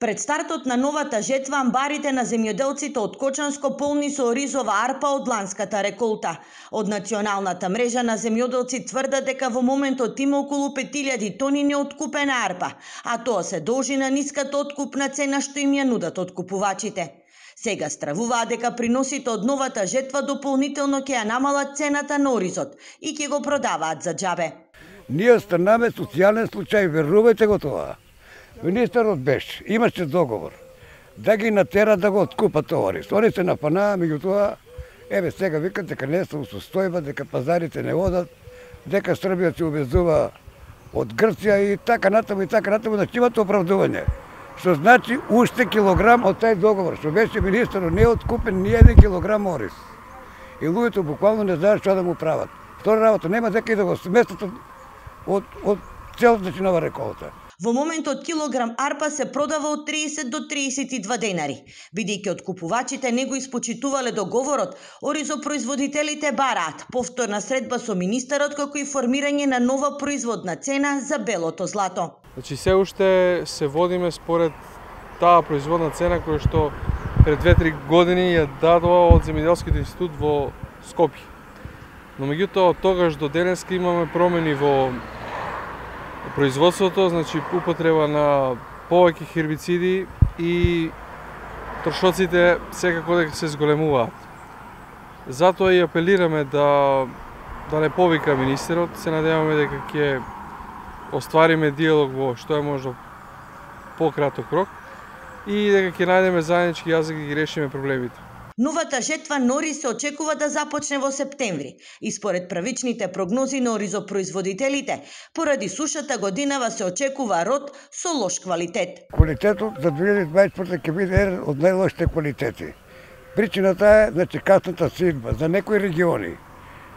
Пред стартот на новата жетва, амбарите на земјоделците од Кочанско полни со оризова арпа од ланската реколта. Од Националната мрежа на земјоделци тврдат дека во моментот има околу 5000 тони неоткупена арпа, а тоа се должи на ниската откупна цена што им ја нудат откупувачите. Сега стравуваат дека приносите од новата жетва дополнително ќе ја намалат цената на оризот и ќе го продаваат за џабе. Ние станаме социјален случај, верувајте го тоа. Министерот беше, имаше договор да ги натера да го откупат тоа ориз. Они се напанаа, меѓутоа, еве сега викат дека не се состојба, дека пазарите не одат, дека Србија се увезува од Грција и така натаму, значи имат оправдување. Што значи уште килограм од тај договор, што беше министерот, не откупен ни 1 килограм ориз. И луѓето буквално не знаат што да му прават. Втора работа нема дека и да го сместат од целата нова реколта. Во моментот килограм арпа се продава од 30 до 32 денари. Бидејќи откупувачите не го испочитувале договорот, оризопроизводителите бараат повторна средба со министерот како и формирање на нова производна цена за белото злато. Значи се уште се водиме според таа производна цена која што пред 2-3 години ја дадува од Земјоделскиот институт во Скопје. Но меѓутоа од тогаш до денеска имаме промени во производството, значи употреба на повеќе хербициди и трошоците секако дека се зголемуваат. Затоа и апелираме да не повика министерот, се надеваме дека ќе оствариме диалог во што е можно пократок рок и дека ќе најдеме заеднички јазик да ги решиме проблемите. Новата жетва на ориз се очекува да започне во септември и според првичните прогнози на оризопроизводителите, поради сушата годинава се очекува род со лош квалитет. Квалитетот за 2024 ќе биде еден од најлошите квалитети. Причината е, значи, касната сидба за некои региони.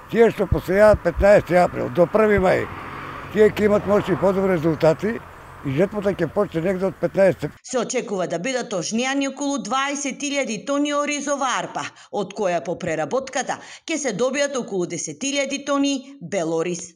Тие што посејаат 15 април до 1 мај, тие ќе имат може и подобри резултати и жетвата ќе почне негде од 15. Се очекува да бидат ожнеани околу 20.000 тони оризова арпа, од која по преработката ќе се добијат околу 10.000 тони бел ориз.